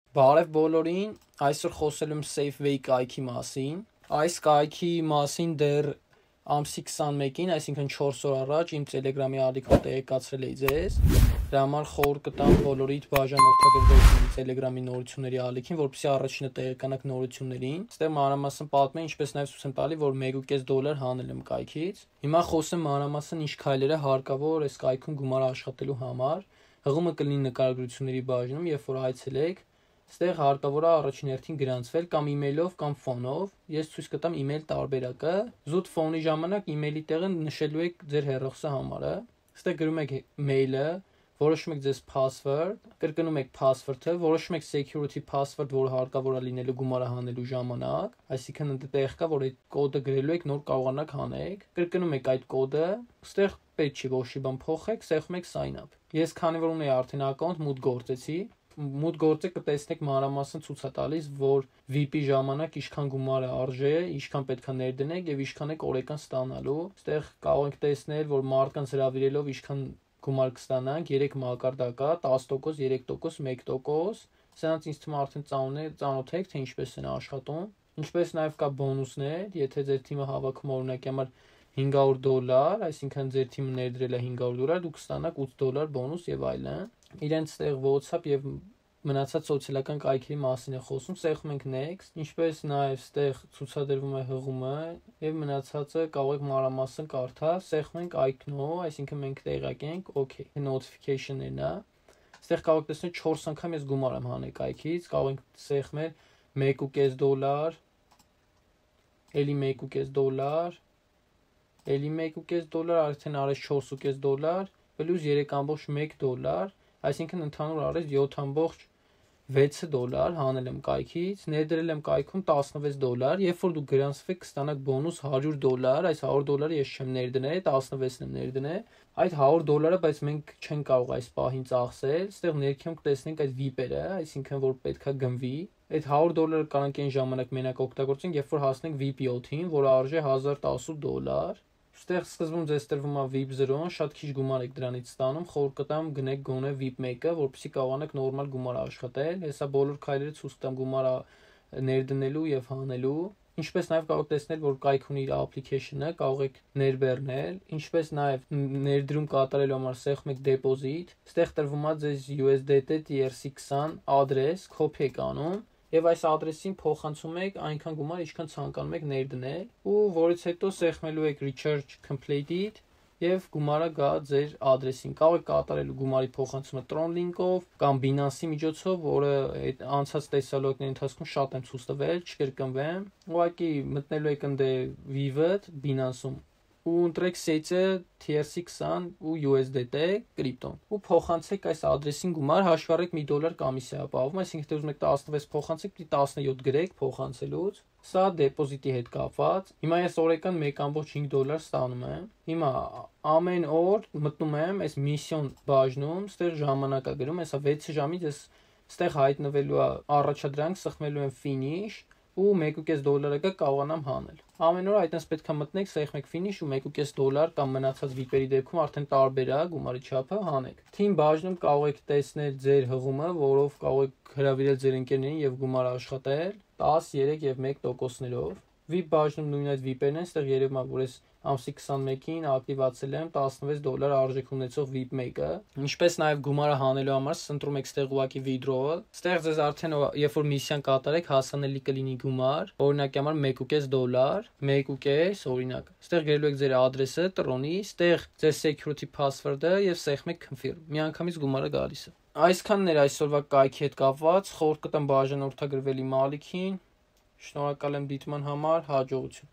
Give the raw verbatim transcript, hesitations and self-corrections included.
Բարև բոլորին, այսօր խոսելու եմ SafeWay կայքի մասին։ Այս կայքի մասին դեռ ամսի քսանմեկին, այսինքն չորս օր առաջ իմ Telegram-ի ալիքում տեղեկացրել էի ձեզ։ Դրա համար խորհուրդ կտամ բոլորիդ բաժանորդագրվել Telegram-ի նորությունների ալիքին, որպեսզի առաջինը տեղեկանաք նորություններին։ Այստեղ մանրամասն պատմեմ, ինչպես նաև ցույց եմ տալի, որ մեկ ու կես դոլար հանել եմ կայքից։ Հիմա խոսեմ մանրամասն ինչ քայլեր է հարկավոր այս կայքում գումար աշխատելու համար։ Հղումը կլինի նկարագրությունների բաժնում, երբ որ այցելեք։ Այստեղ հարկավոր է առաջին հերթին գրանցվել կամ email-ով կամ ֆոնով։ Ես ցույց կտամ email տարբերակը։ Զուտ ֆոնի ժամանակ email-ի տեղը նշելու եք ձեր հեռախոսի համարը։ Այստեղ գրում եք mail-ը, որոշում եք ձեզ password, կրկնում եք password-ը, որոշում եք security password, որը հարկավոր է լինելու գումարը հանելու ժամանակ, այսինքն այնտեղ կա, որ այդ կոդը գրելու եք, նոր կարողանաք հանեք։ Կրկնում եք այդ կոդը, այստեղ պետք չի ոչ մի բան փոխեք, սեղմում եք sign up։ Ես քանի որ ունեի արդեն account, մուտք գործեցի։ Մուտք գործեք կտեսնեք մանրամասն ցույց է տալիս, որ V I P-ի ժամանակ ինչքան գումար է արժե, ինչքան պետք է ներդնեք եւ ինչքան եք օրական ստանալու։ Այստեղ կարող եք տեսնել, որ մարդկանց հրավիրելով ինչքան գումար կստանանք, երեք մակարդակ կա, տասը տոկոս, երեք տոկոս, մեկ տոկոս։ Սրանց ինձ թվում է արդեն ծանոթ եք, թե ինչպես են աշխատում։ Ինչպես նաև կա բոնուսներ, եթե ձեր թիմը հավաքում օրինակի համար հինգ հարյուր դոլար, այսինքն ձեր թիմը ներդրել է հինգ հարյուր դոլար, դուք կստանաք ութ դոլար բոնուս եւ այլն։ Իրենց ստեղ WhatsApp եւ մնացած սոցիալական կայքերի մասին է խոսում, սեղմում ենք next, ինչպես նաև ստեղ ցուցադրվում է հղումը եւ մնացածը կարող եք մանրամասն կարդալ, սեղմում ենք icon-ը, այսինքն մենք տեղակ ենք, okay, notification-ն է։ Ստեղ կարող եք տեսնել չորս անգամ ես գումար եմ հանել կայքից, կարող ենք սեղմել մեկ ու կես դոլար, էլի մեկ ու կես դոլար, էլի մեկ ու կես դոլար, արդեն արեց չորս ու կես դոլար, պլյուս երեք ամբողջ մեկ դոլար, այսինքն ընդհանուր արեց յոթ ամբողջ վեց դոլար հանել եմ կայքից, ներդրել եմ կայքում տասնվեց դոլար, երբ որ դուք գրանցվեք կստանաք բոնուս հարյուր դոլար, այս հարյուր դոլարը ես չեմ ներդնել, տասնվեցն եմ ներդնել, այդ հարյուր դոլարը, բայց մենք չենք կարող այս պահին ծախսել, այստեղ ներքևում կտեսնենք այդ V I P-երը, այսինքն որ պետքա գնվի, այդ հարյուր դոլարը կանենք այն ժամանակ մենակ օգտագործենք, երբ որ հասնենք V I P յոթին, որը արժե հազար տասութ դոլար։ Այստեղ սկզբում ձեզ տրվում է V I P զրոն, շատ քիչ գումար եք դրանից ստանում, խորհուրդ կտամ գնեք գոնե V I P մեկը, որպեսզի կարողանաք նորմալ գումար աշխատել։ Հեսա բոլոր քայլերը ցույց կտամ գումարը ներդնելու եւ հանելու։ Ինչպես նաեւ կարող եք տեսնել, որ կայք ունի իր application-ը, կարող եք ներբեռնել, ինչպես նաեւ ներդրում կատարելու համար սեղմում եք deposit, այստեղ տրվում է ձեզ U S D T T R C twenty ադրես, copy եք անում եւ այս ադրեսին փոխանցում եք այնքան գումար, ինչքան ցանկանում եք ներդնել, ու որից հետո սեղմելու եք recharge completed եւ գումարը գա ձեր ադրեսին։ Կարող եք կատարել գումարի փոխանցումը Tron link-ով կամ Binance-ի միջոցով, որը այդ անցած տեսալոկների ընթացքում շատ եմ ցույց տվել, չկրկնվեմ։ Ուղղակի մտնելու եք ընդ V I V-ը Binance-ում ու ընտրեք սեյցը T R C twenty ու U S D T կրիպտոն ու փոխանցեք այս ադրեսին գումար, հաշվառեք մի դոլար կոմիսիա ապահովում, այսինքն թե ուզում եք տասնվեց փոխանցեք, պիտի տասնյոթ գրեք փոխանցելուց։ Սա դեպոզիտի հետ կապված։ Հիմա ես օրական մեկ ամբողջ հինգ դոլար ստանում եմ։ Հիմա ամեն օր մտնում եմ այս միսիոն բաժնում, ստեղ ժամանակա գրում, հեսա վեց ժամից ես ստեղ հայտնվելու է առաջադրանք, սխմելու եմ finish ու մեկ ու կես դոլարը կա կարողանամ հանել։ Ամեն օր այդպես պետք է մտնեք, սեղմեք finish ու մեկ ու կես դոլար կամ մնացած V I P-երի դեպքում արդեն տարբեր է գումարի չափը հանեք։ Թիմ բաժնում կարող եք տեսնել ձեր հղումը, որով կարող եք հրավիրել ձեր ընկերներին եւ գումար աշխատել տասը, երեք եւ մեկ տոկոսներով։ V I P բաժնում նույն այդ V I P-երն են, այստեղ երևում է, որ ես ամսի քսանմեկին ակտիվացել եմ տասնվեց դոլար արժեք ունեցող V I P մեկը։ Ինչպես նաև գումարը հանելու համար ընտրում եք ստեղ ուղակի withdrawal։ Ստեղ ձեզ արդեն երբ որ միսիան կատարեք, հասանելի կլինի գումար, օրինակի համար մեկ ու կես դոլար, մեկ ու կես, օրինակ։ Ստեղ գրելու եք ձեր ադրեսը, Tron-ի, ստեղ ձեր security password-ը եւ սեղմում եք confirm։ Միանգամից գումարը գալիս է։ Այսքանն էր այսօրվա կայքի հետ կապված, խորհուրդ կտամ բաժանորդագրվել իմ ալիքին։ Շնորհակալ եմ դիտման համար, հաջողություն։